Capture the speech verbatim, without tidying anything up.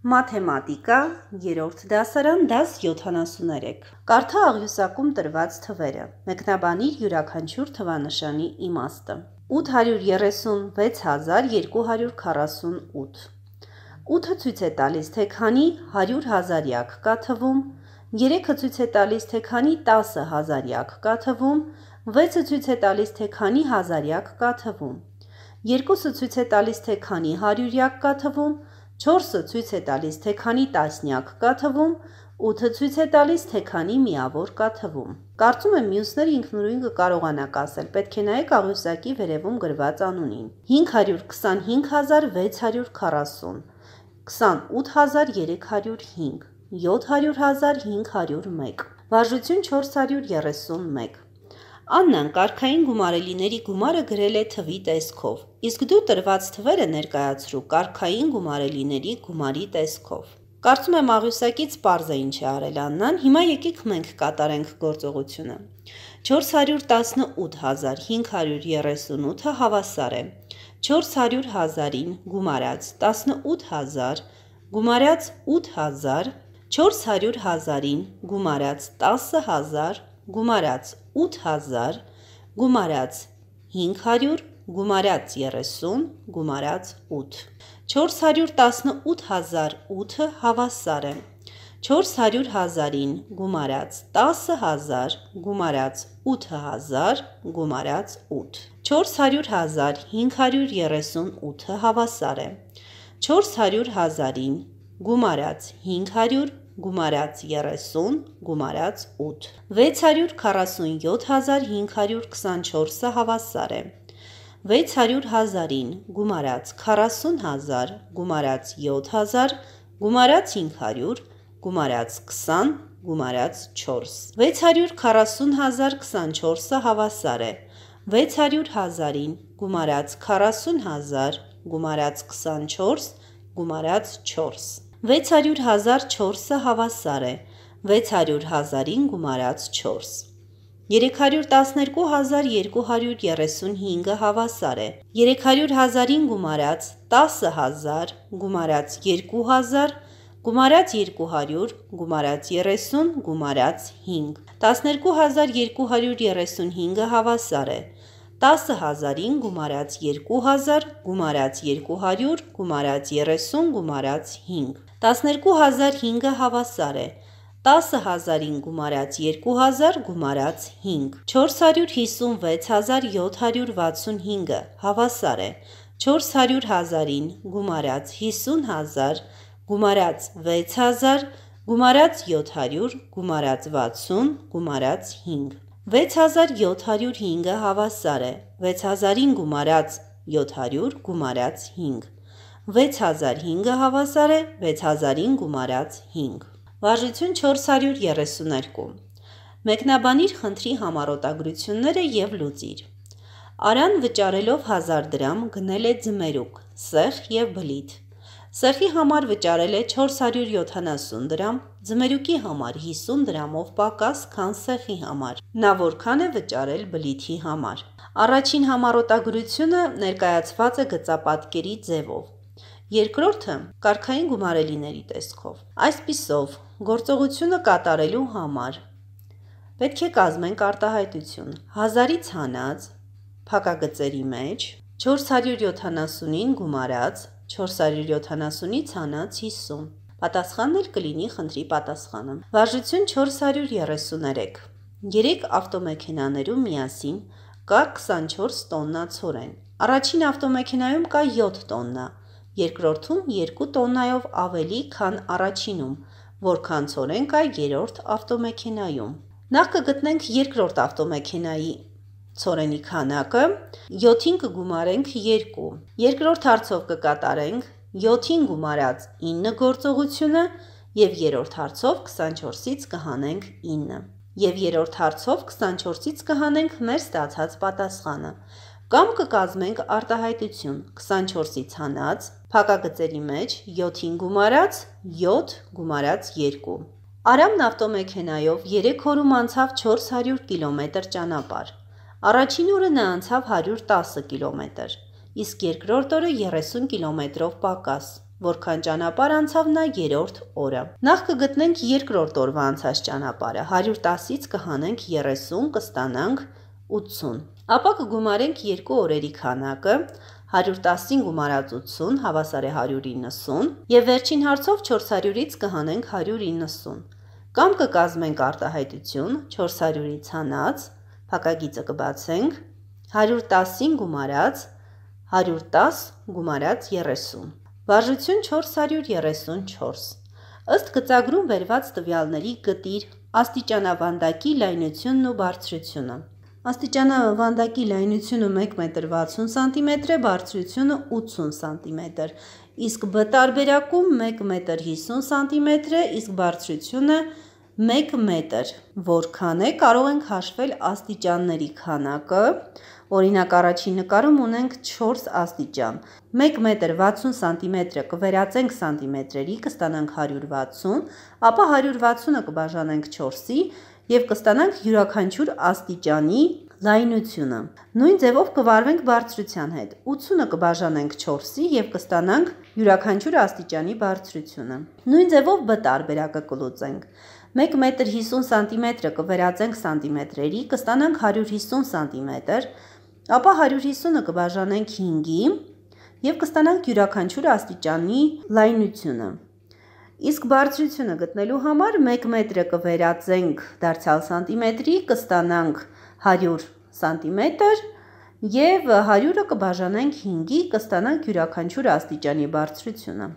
Մաթեմատիկա, երրորդ դասարան, դաս յոթանասուներեք։ Կարդա աղյուսակում տրված թվերը։ Մեկնաբանիր յուրաքանչյուր թվանշանի իմաստը։ ութ հարյուր երեսունվեց հազար երկու հարյուր քառասուն ութ։ ութը ցույց է տալիս, թե քանի հարյուր հազարյակ կա թվում, երեքը ցույց է տալիս, թե քանի տասը հազարյակ կա թվում, վեցը ցույց է տալիս, թե քանի հազարյակ կա թվում, երկուսը ցույց է տալիս, թե քանի հարյուրյակ կա թվում, չորսը ցույց է տալիս, թե քանի տասնյակ կա թվում, ութը ցույց է տալիս, թե քանի միավոր կա թվում։ Կարծում եմ մյուսները ինքնուրույն կկարողանաք ասել, պետք է նայեք աղյուսակի վերևում գրված անունին։ հինգ հարյուր քսանհինգ հազար վեց հարյուր քառասուն, քսանութ հազար երեք հարյուր հինգ, յոթ հարյուր հազար հինգ հարյուր մեկ, վարժություն չորս հարյուր երեսունմեկ։ Աննան կարգային գումարելիների գումարը գրել է թվի տեսքով, իսկ դու տրված թվերը ներկայացրու կարգային գումարելիների գումարի տեսքով։ Կարծում եմ աղյուսակից պարզ է ինչ է արել Աննան, հիմա եկեք մենք կատարենք գործողությունը։ չորս հարյուր տասնութ հազար հինգ հարյուր երեսունութը հավասար է չորս հարյուր հազարին գումարած տասնութ հազար գումարած ութ հազար, չորս հարյուր հազարին գումարած տասը հազար գումարած ութ հազար գումարած հինգ հարյուր գումարած երեսուն գումարած ութ։ չորս հարյուր տասնութ հազար ութը հավասար է չորս հարյուր հազարին գումարած տասը հազար գումարած ութ հազար գումարած ութ։ չորս հարյուր հազար հինգ հարյուր երեսուն ութը հավասար է չորս հարյուր հազարին գումարած հինգ հարյուր գումարած երեսուն գումարած ութ։ վեց հարյուր քառասունյոթ հազար հինգ հարյուր քսանչորսը հավասար է վեց հարյուր հազարին գումարած քառասուն հազար գումարած յոթ հազար գումարած հինգ հարյուր գումարած քսան գումարած չորս։ վեց հարյուր քառասուն հազար քսանչորսը հավասար է վեց հարյուր հազարին գումարած քառասուն հազար գումարած քսանչորս գումարած չորս։ վեց հարյուր հազար չորսը հավասար է վեց հարյուր հազարին գումարած չորս։ երեք հարյուր տասներկու հազար երկու հարյուր երեսունհինգը հավասար է երեք հարյուր հազարին գումարած տասը հազար գումարած երկու հազար գումարած երկու հարյուր գումարած երեսուն գումարած հինգ։ տասներկու հազար երկու հարյուր երեսունհինգը հավասար է տասը հազարին գումարած երկու հազար գումարած երկու հարյուր գումարած երեսուն գումարած հինգ։ տասներկու հազար հինգը հավասար է տասը հազարին գումարած երկու հազար գումարած հինգ։ չորս հարյուր հիսունվեց հազար յոթ հարյուր վաթսունհինգը հավասար է չորս հարյուր հազարին գումարած հիսուն հազար գումարած վեց հազար գումարած յոթ հարյուր գումարած վաթսուն գումարած հինգ։ վեց հազար յոթ հարյուր հինգը հավասար է վեց հազարին գումարած յոթ հարյուր գումարած հինգ։ վեց հազար հինգը հավասար է վեց հազարին գումարած հինգ։ Վարժություն չորս հարյուր երեսուներկու։ Մեկնաբանիր խնդրի համառոտագրությունները և լուծիր։ Արան վճարելով հազար դրամ գնել է ձմերուկ, սեխ և բլիթ։ Սեխի համար վճարել է չորս հարյուր յոթանասուն դրամ, ձմերուկի համար հիսուն դրամով պակաս, քան սեխի համար։ Նա որքան է վճարել բլիթի համար։ Առաջին համառոտագրությունը ներկայացված է գծապատկերի ձևով։ Երկրորդը կարգային գումարելիների տեսքով։ Այսպիսով, գործողությունը կատարելու համար պետք է կազմենք արտահայտություն։ Հազարից հանած փակագծերի մեջ չորս հարյուր յոթանասունին գումարած չորս հարյուր յոթանասունից հանած հիսուն։ Պատասխանն էլ կլինի խնդրի պատասխանը։ Վարժություն չորս հարյուր երեսուներեք։ երեք ավտոմեքենաներում միասին կա քսանչորս տոննա ցորեն։ Առաջին ավտոմեքենայում կա յոթ տոննա, երկրորդում երկու տոննայով ավելի, քան առաջինում, որքան ցորեն կա երրորդ ավտոմեքենայում։ Նախ կգտնենք երկրորդ ավտոմեքենայի ցորենի քանակը, յոթին կգումարենք երկու, երկրորդ հարցով կկատարենք յոթին գումարած ինը գործողությունը և երրորդ հարցով քսանչորսից կհանենք ինը և երրորդ հարցով քսանչորսից կհանենք մեր ստացած պատասխանը, կամ կկազմենք արտահայտություն քսանչորսից հանած փակագծերի մեջ յոթին գումարած յոթ գումարած երկու։ Արամն ավտոմեքենայով երեք օրում անցավ չորս հարյուր կիլոմետր ճանապարհ։ Առաջին օրը նա անցավ հարյուր տասը կիլոմետր, իսկ երկրորդ օրը երեսուն կիլոմետրով պակաս։ որքան ճանապարհ անցավ նա երրորդ օրը։ Նախ կգտնենք երկրորդ օրվա անցած ճանապարհը, հարյուր տասից կհանենք երեսուն, կստանանք ութսուն։ Ապա կգումարենք երկու օրերի քանակը, հարյուր տասին գումարած ութսուն, հավասար է հարյուր իննսուն, եւ վերջին հարցով չորս հարյուրից կհանենք հարյուր իննսուն։ Կամ կկազմենք արտահայտություն չորս հարյուրից հանած, փակագիծը կբացենք, հարյուր տասին գումարած հարյուր տաս գումարած երեսուն։ Վարժություն չորս հարյուր երեսուն չորս։ Ըստ գծագրում վերված տվյալների գտիր աստիճանավանդակի լայնությունն ու բարձրությունը։ Աստիճանավանդակի լայնությունը մեկ մետր վաթսուն սանտիմետր է, բարձրությունը ութսուն սանտիմետր, իսկ B տարբերակում մեկ մետր հիսուն սանտիմետր է, իսկ բարձրությունը մեկ մետր։ Որքան է, կարող ենք հաշվել աստիճանների քանակը։ Օրինակ առաջին նկարում ունենք չորս աստիճան։ մեկ մետր վաթսուն սանտիմետրը կվերածենք սանտիմետրերի, կստանանք հարյուր վաթսուն, ապա հարյուր վաթսունը կբաժանենք չորսի և կստանանք յուրաքանչյուր աստիճանի լայնությունը։ Նույն ձևով կվարվենք բարձրության հետ։ ութսունը կբաժանենք չորսի և կստանանք յուրաքանչյուր աստիճանի բարձրությունը։ Նույն ձևով B տարբերակը կլուծենք։ մեկ մետր հիսուն սանտիմետրը կվերածենք սանտիմետրերի, կստանանք հարյուր հիսուն սանտիմետր, ապա հարյուր հիսունը կբաժանենք հինգի և կստանանք յուրաքանչյուր աստիճանի լայնությունը։ Իսկ բարձրությունը գտնելու համար մեկ մետրը կվերածենք դարձյալ սանտիմետրի, կստանանք հարյուր սանտիմետր և հարյուրը կբաժանենք հինգի, կստանանք յուրաքանչյուր աստիճանի բարձրությունը։